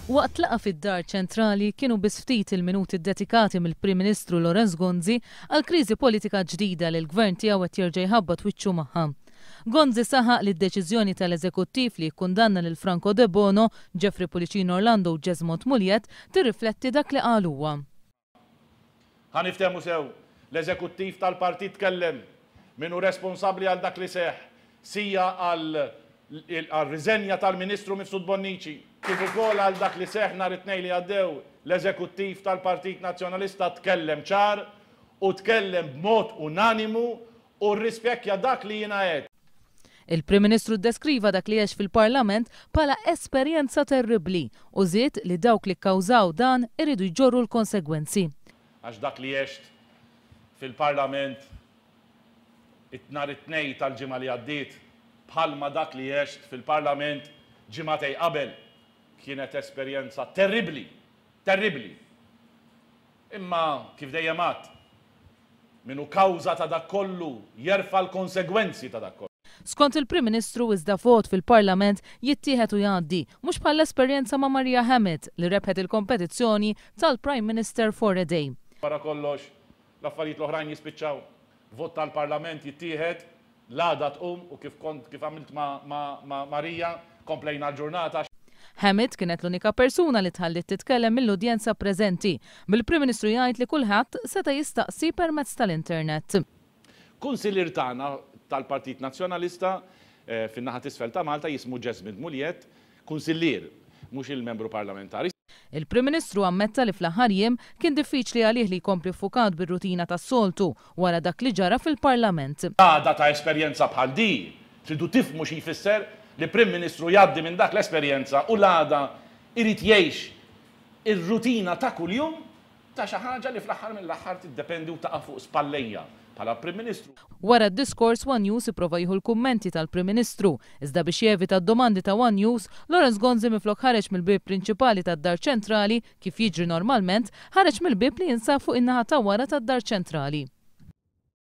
Waqt laqgħa fid-Dar Ċentrali kienu biss ftit il-minuti ddedikati mill-Prim Ministru Lawrence Gonzi għall-kriżi politika ġdida li l-Gvern tiegħu qed jerġa' jħabbat wiċċu magħha. Gonzi saħaq li d-deċiżjoni tal-Eżekuttiv li jikkundanna lil Franco Debono, Jeffrey Pullicino Orlando u Jesmond Mugliett tirrifletti dak li qal huwa. Ħa niftehmu sew, l-Eżekuttiv tal-Partit tkellem, min hu responsabbli għal dak li seħħ, sija għar-riżenja tal-Ministru Mifsud Bonnici, kif ukoll għal dak li seħħ nhar it-Tnejn li għaddew, l-Eżekuttiv tal-Partit Nazzjonalista tkellem ċar u tkellem b'mod unanimu u rrispjekkja dak li jiena għedt. Il-Prim Ministru ddeskriva dak li għex fil-Parlament bħala esperjenza terribbli u żied li dawk li kkawżaw dan iridu jġorru l-konsegwenzi. Għax dak li għext fil-Parlament nhar it-Tnejn tal-ġimgħa li għaddiet bħalma dak li għext fil-Parlament ġimagħtejn qabel kienet esperjenza terribbli, terribbli. Imma kif dejjem għedt, Min hu kawża ta' dak kollu jerfa' l-konsegwenzi ta' dak kollu. Skont il-Prim Ministru, iżda vot fil-Parlament jittieħed u jgħaddi, mhux bħall-esperjenza ma' Maria Hammett li rebħet il-kompetizzjoni tal-Prime Minister for a Day. Wara kollox, l-affarijiet l-oħrajn jispiċċaw. Vot tal-Parlament jittieħed, l-għada tqum u kif kont kif għamilt ma' Maria, komplejna l-ġurnata. Hammett kienet l-unika persuna li tħalliet titkellem mill-udjenza preżenti, bil-Prim Ministru jgħid li kulħadd seta' jistaqsi permezz tal-internet. Kunsillier tagħna tal-Partit Nazzjonalista fin-naħa t'isfel ta' Malta jismu Jesmond Mugliett, kunsillier, mhux il-membru parlamentari. Il-Prim Ministru ammetta li fl-aħħar jiem kien diffiċli għalih li jkompli ffukat bir-rutina tas-soltu wara dak li ġara fil-Parlament. Għada ta' esperjenza bħal di, tridu tifhmu xi jfisser li Prim Ministru jgħaddi minn dak l-esperjenza u l-għada jrid jgħix ir-rutina ta' kuljum ta' xi ħaġa li fl-aħħar mill-aħħar tiddependi u taqa' fuq spallejja bħala Prim Ministru. Wara d-diskors, one News ipprova jieħu l-kummenti tal-Prim Ministru, iżda biex jevita d-domandi ta' one News, Lawrence Gonzi minflok ħareġ mill-bieb prinċipali tad-Dar Ċentrali, kif jiġri normalment, ħareġ mill-bieb li jinsab fuq in-naħa ta' wara tad-Dar Ċentrali.